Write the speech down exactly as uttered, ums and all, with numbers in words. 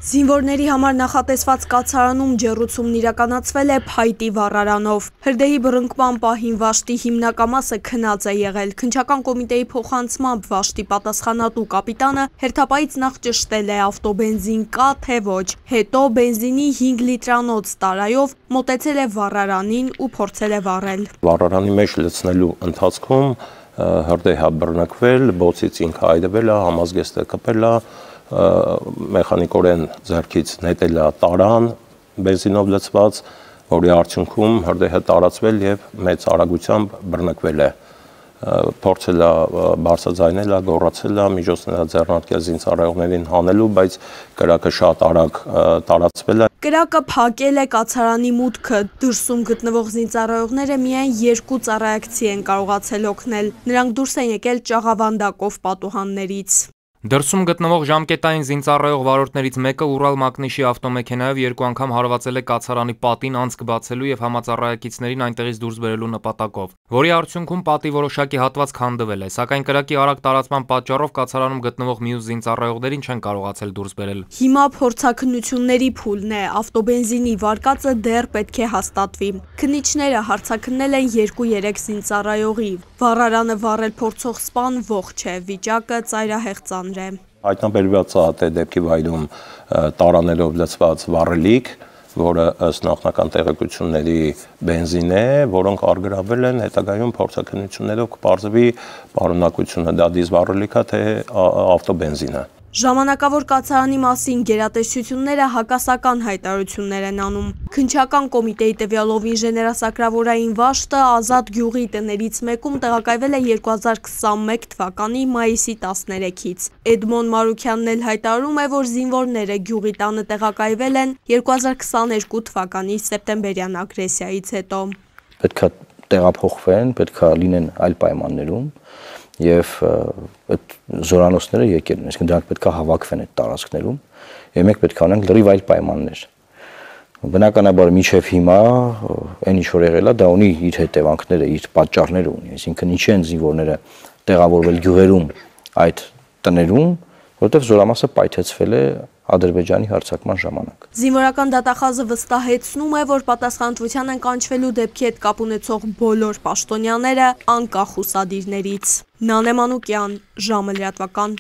Զինվորների համար նախատեսված կացարանում ջեռուցումն իրականացվել է փայտի վառարանով։ Հրդեհի բռնկման պահին Վաշտի հիմնակամասը քնած է եղել։ Քննչական կոմիտեի փոխանցմամբ Վաշտի պատասխանատու կապիտանը հերթապայից նախ ճշտել է ավտոբենզին կա թե ոչ, հետո բենզինի հինգ լիտրանոց տարայով մոտեցել է վառարանին ու փորձել է վառել։ Վառարանի մեջ լցնելու ընթացքում հրդեհ է բռնկվել, բոցից ինքը այրվել է, համազգեստը կպել է, մեխանիկորեն ձեռքից նետել է տարան բենզինով լցված, որի արդյունքում հրդեհը տարածվել եւ մեծ արագությամբ բռնկվել է։ Փորձել է բարձրաձայնել է, գոռացել է, միջոցներ է ձեռնարկել զինծառայողներին հանելու, բայց կրակը շատ արագ տարածվել է։ Կրակը փակել է կացարանի մուտքը, դրսում գտնվող զինծառայողները միայն երկու ծառայակցի են կարողացել օգնել։ Նրանք դուրս են եկել ճաղավանդակով պատուհաններից։ Դրսում գտնվող ժամկետային զինծառայող վարորդներից մեկը Ուրալ մակնիշի ավտոմեքենայով երկու անգամ հարվածել է կացարանի պատին անցք բացելու եւ համածառայակիցներին այնտեղից դուրս բերելու նպատակով, որի արդյունքում պատի որոշակի հատված քանդվել է, սակայն կրակի արագ տարածման պատճառով կացարանում գտնվող մյուս զինծառայողներին չեն կարողացել դուրս բերել։ Հիմա փորձաքննությունների փուլն է, ավտոբենզինի վարկածը դեռ պետք է հաստատվի։ Քննիչները հարցաքննել են երկու-երեք զինծառայողի։ Վառարանը վառել փորձող սպան ողջ է, վիճակը ծայրահեղ ծանր է։ Հայտնաբերված է դեպքի վայրում տարաներով լցված վառելիք, որը ըստ նախնական տեղեկությունների բենզին է, որոնք արգրավել են, հետագայում փորձաքննություններով կպարզվի պարունակությունը, դա դիզվառելիք է թե ավտոբենզին է։ Ժամանակավոր կացարանի մասին գերատեսչությունները հակասական հայտարարություններ են անում։ Քննչական կոմիտեի տվյալով ինժեներասակրավորային Վաշտը Ազատ գյուղի տներից մեկում տեղակայվել է երկու հազար քսանմեկ թվականի մայիսի տասներեքից։ Էդմոն Մարուքյանն էլ հայտարարում է, որ զինվորները գյուղի տանը տեղակայվել են երկու հազար քսաներկու թվականի սեպտեմբերյան ագրեսիայից հետո։ Պետք է տեղափոխվեն, պետք է լինեն այլ պայմաններում եւ այդ զորանոցները եկել են, այսինքն դրանք պետք է հավաքվեն այդ տարածքներում եւ մենք պետք է անենք լրիվ այլ պայմաններ։ Բնականաբար միջև հիմա այն ինչ որ եղել է, դա ունի իր հետևանքները, իր պատճառները ունի, այսինքն ինչի են զինվորները տեղավորվել գյուղերում այդ տներում, որտեղ զորամասը պայթեցվել է Ադրբեջանի հարձակման ժամանակ։ Զինվորական դատախազը վստահեցնում է, որ պատասխանատվության են կանչվելու դեպքի հետ կապ ունեցող բոլոր պաշտոնյաները անկախ ուսադիրներից։ Նանե Մանուկյան, ժամը լրատվական։